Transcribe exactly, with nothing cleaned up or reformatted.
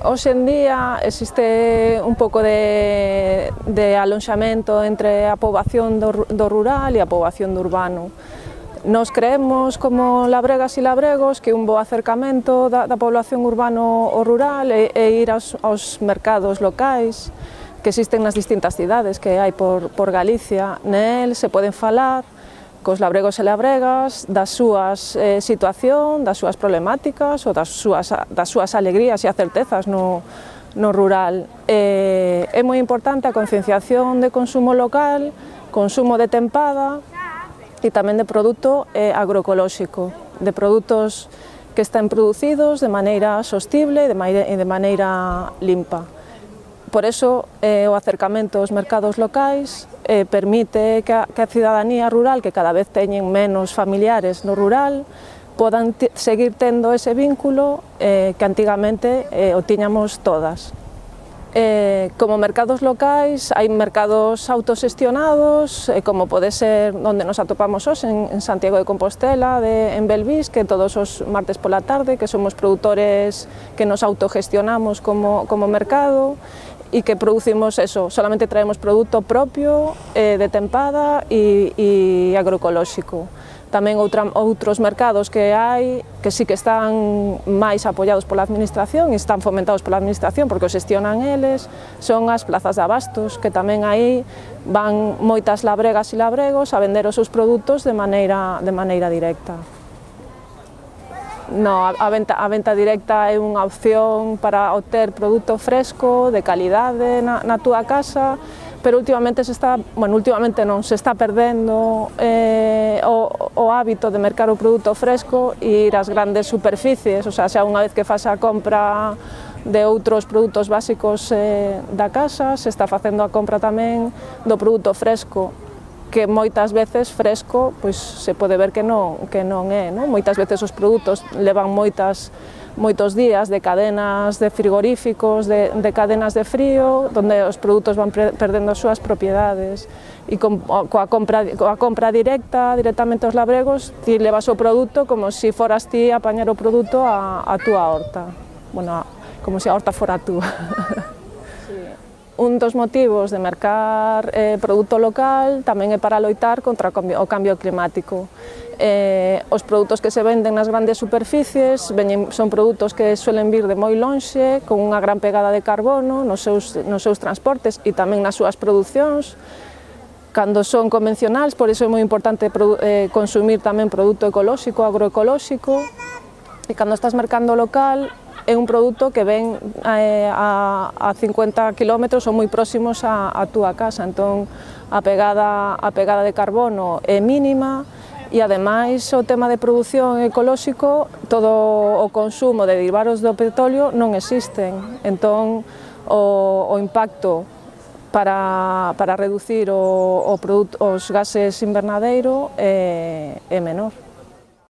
Hoxe en día existe un pouco de, de alonxamento entre a poboación do, do rural e a poboación do urbano. Nos creemos, como labregas e labregos, que un bo acercamento da, da población urbano ao rural e, e ir aos, aos mercados locais que existen nas distintas cidades que hai por, por Galicia. Nel se poden falar cos labregos e labregas das súas eh, situación, das súas problemáticas ou das súas, das súas alegrías e acertezas no, no rural. Eh, é moi importante a concienciación de consumo local, consumo de tempada, e tamén de produto eh, agroecolóxico, de produtos que estén producidos de maneira sostible e de, de maneira limpa. Por eso, eh, o acercamento aos mercados locais eh, permite que a, que a cidadanía rural, que cada vez teñen menos familiares no rural, podan seguir tendo ese vínculo eh, que antigamente eh, o tiñamos todas. Eh, como mercados locais, hai mercados autoxestionados, eh, como pode ser onde nos atopamos hoxe, en, en Santiago de Compostela, de, en Belvís, que todos os martes pola tarde, que somos produtores que nos autogestionamos como, como mercado e que producimos eso, solamente traemos produto propio, eh, de tempada e, e agroecolóxico. Tamén outra, outros mercados que hai que sí que están máis apoiados pola administración e están fomentados pola administración porque os xestionan eles, son as plazas de abastos, que tamén aí van moitas labregas e labregos a vender os seus produtos de maneira, de maneira directa. No, a, a, venta, a venta directa é unha opción para obter produto fresco, de calidade na, na túa casa, pero últimamente se está, bueno, últimamente non, se está perdendo eh, o, o hábito de mercar o produto fresco e ir ás grandes superficies, o sea, xa unha vez que faz a compra de outros produtos básicos eh, da casa, se está facendo a compra tamén do produto fresco, que moitas veces fresco, pois se pode ver que non, que non é, non? Moitas veces os produtos levan moitas moitos días de cadenas de frigoríficos, de, de cadenas de frío, onde os produtos van perdendo as súas propiedades. E con, coa, compra, coa compra directa, directamente aos labregos, ti levas o produto como se si foras ti a apañar o produto a, a túa horta. Bueno, como se a horta fora túa. Sí. Un dos motivos de mercar eh, produto local tamén é para loitar contra o cambio, o cambio climático. Eh, os produtos que se venden nas grandes superficies veñen, son produtos que suelen vir de moi lonxe, con unha gran pegada de carbono nos seus, nos seus transportes e tamén nas súas producións. Cando son convencionais, por iso é moi importante eh, consumir tamén produto ecolóxico, agroecolóxico, e cando estás mercando local é un produto que ven eh, a, a cincuenta kilómetros ou moi próximos a, a túa casa, entón a pegada, a pegada de carbono é mínima. E ademais o tema de produción ecolóxico, todo o consumo de derivados do petróleo non existen, entón o, o impacto para, para reducir o, o produto, os gases invernadeiro é, é menor.